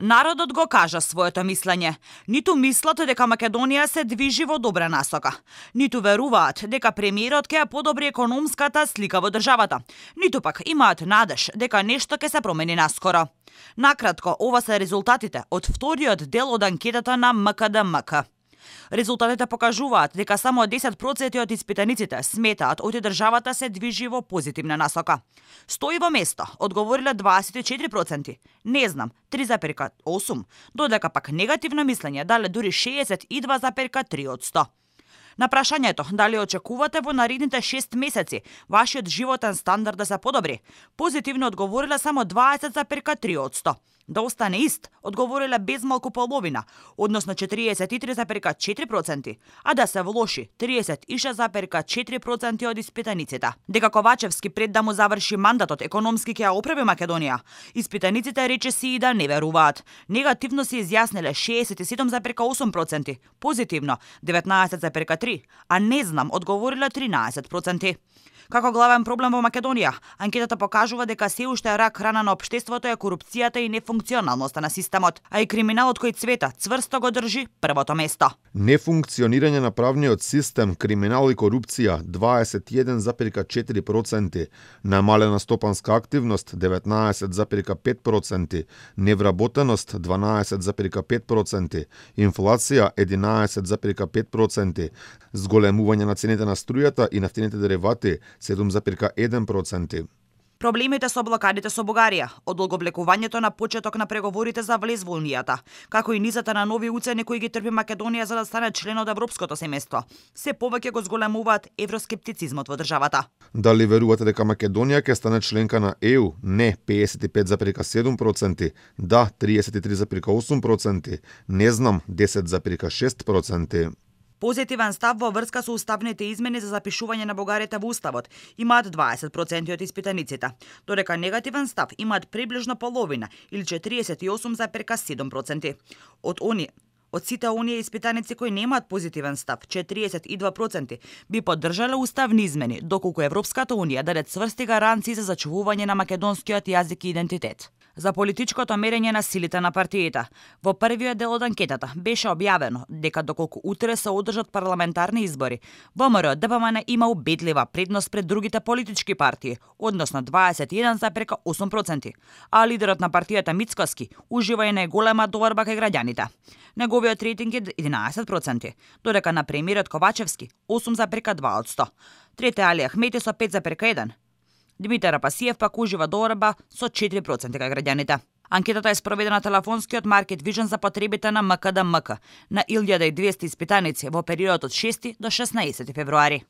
Народот го кажа своето мислење. Ниту мислат дека Македонија се движи во добра насока. Ниту веруваат дека премиерот ќе ја подобри економската слика во државата. Ниту пак имаат надеж дека нешто ќе се промени наскоро. Накратко, ова се резултатите од вториот дел од анкетата на МКДМК. Резултатите покажуваат дека само 10% од испитаниците сметаат оти државата се движи во позитивна насока. Стои во место, одговориле 24%, не знам, 3,8%, додека пак негативно мислење дале дури 62,3%. На прашањето дали очекувате во наредните 6 месеци вашиот животен стандард да се подобри, позитивно одговориле само 20,3%. Да остане ист, одговориле безмалку половина, односно 43,4%, а да се влоши 36,4% од испитаниците. Дека Ковачевски пред да му заврши мандатот економски ќе ја оправи Македонија, испитаниците речиси и да не веруваат. Негативно се изјасниле 67,8%, позитивно 19,3%, а не знам одговориле 13%. Како главен проблем во Македонија, анкетата покажува дека се уште рак рана на општеството е корупцијата и нефункционалноста на системот, а и криминалот кој цвета цврсто го држи првото место. Нефункционирање на правниот систем, криминал и корупција 21,4%, намалена стопанска активност 19,5%, невработеност 12,5%, инфлација 11,5%, зголемување на цените на струјата и нафтените деривати 7,1%. Проблемите со блокадите со Бугарија, од одолговлекувањето на почеток на преговорите за влез во Унијата, како и низата на нови уцени кои ги трпи Македонија за да стане член од Европското семејство, се повеќе го зголемуваат евроскептицизмот во државата. Дали верувате дека Македонија ќе стане членка на ЕУ? Не 55,7%, да 33,8%, не знам 10,6%. Позитивен став во врска со уставните измени за запишување на бугарите во уставот имаат 20% од испитаниците, додека негативен став имаат приближно половина или 48,7%. Од сите оние испитаници кои немаат позитивен став, 42% би поддржале уставни измени, доколку Европската Унија даде цврсти гаранции за зачувување на македонскиот јазик и идентитет. За политичкото мерење на силите на партиите. Во првиот дел од анкетата беше објавено дека доколку утре се одржат парламентарни избори, ВМРО-ДПМН има убедлива предност пред другите политички партии, односно 21,8%, а лидерот на партијата Мицкоски ужива и најголема доверба кај граѓаните. Неговиот рейтинг е 11%, додека на премиерот Ковачевски 8,2%, трете Али Ахмети со 5,1%, Димитар Апасиев пак ужива доверба со 4% кај граѓаните. Анкетата е спроведена на телефонскиот Market Vision за потребите на МКДМК на 1200 испитаници во периодот од 6 до 16 февруари.